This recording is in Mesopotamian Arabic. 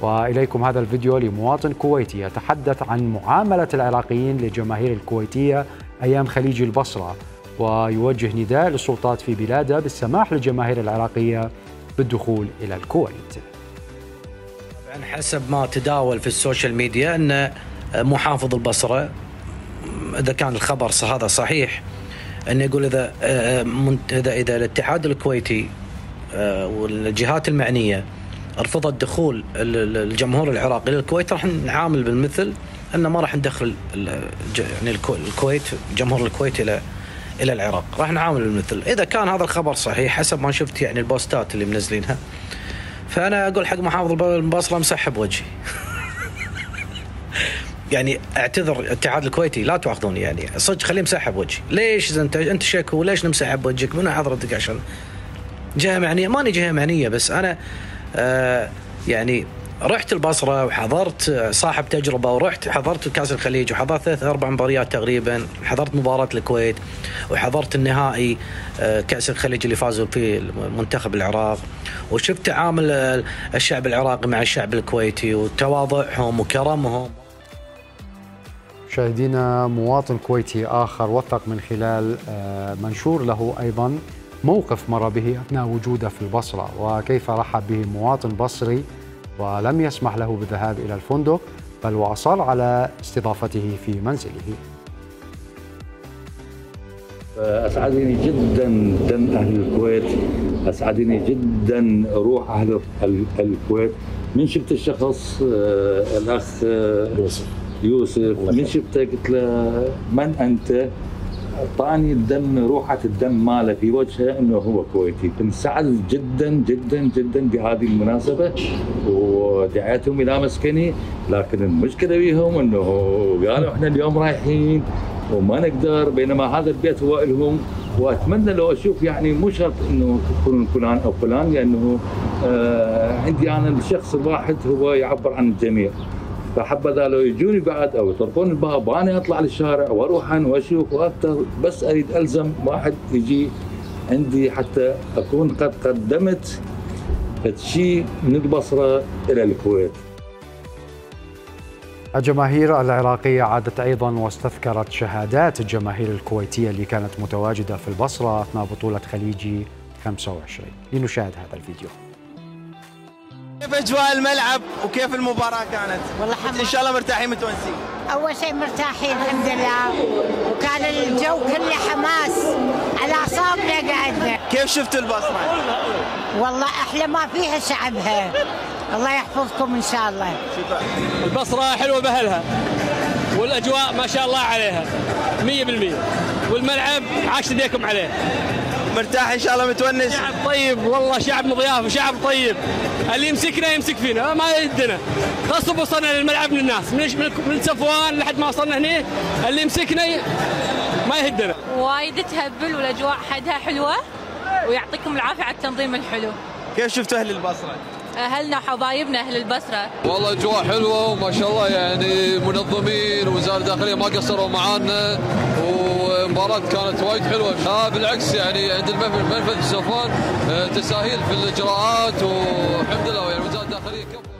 وإليكم هذا الفيديو لمواطن كويتي يتحدث عن معاملة العراقيين للجماهير الكويتية أيام خليج البصرة، ويوجه نداء للسلطات في بلاده بالسماح للجماهير العراقية بالدخول إلى الكويت. حسب ما تداول في السوشيال ميديا أن محافظ البصرة، إذا كان الخبر هذا صحيح، أن يقول إذا الاتحاد الكويتي والجهات المعنية رفضت دخول الجمهور العراقي للكويت راح نعامل بالمثل، أن ما راح ندخل يعني الكويت، جمهور الكويت إلى العراق، راح نعامل بالمثل. إذا كان هذا الخبر صحيح حسب ما شفت يعني البوستات اللي منزلينها، فأنا أقول حق محافظ البصرة مسحب وجهي. يعني اعتذر الاتحاد الكويتي، لا تواخذوني يعني صدق، خليه مسحب وجهي. ليش إذا انت شكو ليش نمسحب وجهك؟ من حضرتك عشان جهه معنيه؟ ماني جهه معنيه، بس انا يعني رحت البصره وحضرت، صاحب تجربه، ورحت حضرت كاس الخليج وحضرت 3-4 مباريات تقريبا، حضرت مباراه الكويت وحضرت النهائي كاس الخليج اللي فازوا فيه منتخب العراق، وشفت تعامل الشعب العراقي مع الشعب الكويتي وتواضعهم وكرمهم. مشاهدينا، مواطن كويتي آخر وثق من خلال منشور له أيضا موقف مر به أثناء وجوده في البصرة، وكيف رحب به مواطن بصري ولم يسمح له بالذهاب إلى الفندق، بل وأصر على استضافته في منزله. أسعدني جدا دم أهل الكويت، أسعدني جدا روح أهل الكويت. من شفت الشخص الأخ يوسف، من شفته قلت له من أنت؟ أعطاني الدم، روحة الدم ماله في وجهه انه هو كويتي. كنت سعد جدا جدا جدا بهذه المناسبة، ودعيتهم الى مسكني، لكن المشكلة بيهم انه قالوا احنا اليوم رايحين وما نقدر، بينما هذا البيت هو لهم. واتمنى لو اشوف يعني مو شرط انه يكون فلان او فلان، لانه عندي انا الشخص الواحد هو يعبر عن الجميع. فحبذا لو يجوني بعد او يطرقون الباب وانا اطلع للشارع واروح واشوف واكثر، بس اريد الزم واحد يجي عندي حتى اكون قد قدمت شيء من البصره الى الكويت. الجماهير العراقية عادت أيضا واستذكرت شهادات الجماهير الكويتية اللي كانت متواجدة في البصرة أثناء بطولة خليجي 25. لنشاهد هذا الفيديو. كيف اجواء الملعب وكيف المباراه كانت؟ والله ان شاء الله مرتاحين متونسين. اول شيء مرتاحين الحمد لله، وكان الجو كله حماس على اعصابنا قعدنا. كيف شفتوا البصره؟ والله احلى ما فيها شعبها، الله يحفظكم ان شاء الله. شكرا. البصره حلوه باهلها، والاجواء ما شاء الله عليها 100%، والملعب عاش يديكم عليه. مرتاح ان شاء الله متونس. شعب طيب والله، شعب مضياف وشعب طيب، اللي يمسكنا يمسك فينا ما يهدنا. غصب وصلنا للملعب من الناس، من صفوان لحد ما وصلنا هنا، اللي يمسكنا ما يهدنا. وايد تهبل والاجواء حدها حلوه، ويعطيكم العافيه على التنظيم الحلو. كيف شفتوا اهل البصره؟ اهلنا وحبايبنا اهل البصره والله اجواء حلوه وما شاء الله، يعني منظمين ووزاره الداخليه ما قصروا معانا، ومباراة كانت وايد حلوه. بالعكس يعني عند المنفذ صفوان تساهيل في الاجراءات، والحمد لله يعني وزاره الداخليه